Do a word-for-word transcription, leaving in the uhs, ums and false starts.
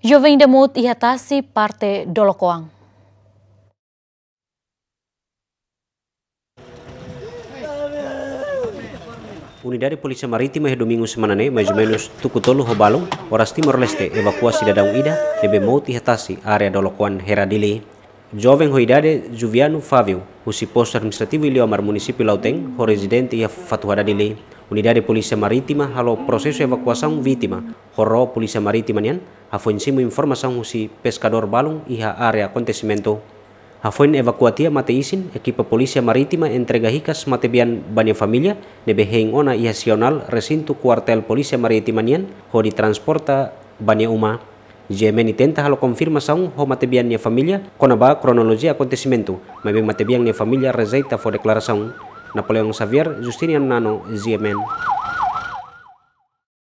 Joven ida mout iha tasi parte Dolokoan. Unidade Polísia Marítima iha domingu semana ne'e, mais ou menus tuku tolu ho balun, oras Timor-Leste evakua sidadaun ida ne'ebé mout iha tasi, área Dolokoan, Hera, Dili. Joven ho idade Juviano Fávio, husi Postu Administrativu Iliomar, Munisípiu Lautém, ho rezidente iha Fatuhada, Dili. Unidade Polísia Marítima halo prosesu evakuasaun vítima, ho ró Polísia Marítima nian hafoin simu informasaun husi peskadór balun iha área akontesimentu. Hafoin evakua tiha mate-isin, ekipa Polísia Marítima entrega hikas matebian ba nia família ne'ebé hein ona iha Sionál, resintu Kuartél Polísia Marítima nian, hodi transporta ba nia uma. G M N tenta halo konfirmasaun ho matebian nia família kona-ba kronolojia akontesimentu, maibé matebian nia família rejeita fó deklarasaun. Napoleão Xavier, Justiniano Nano, G M N.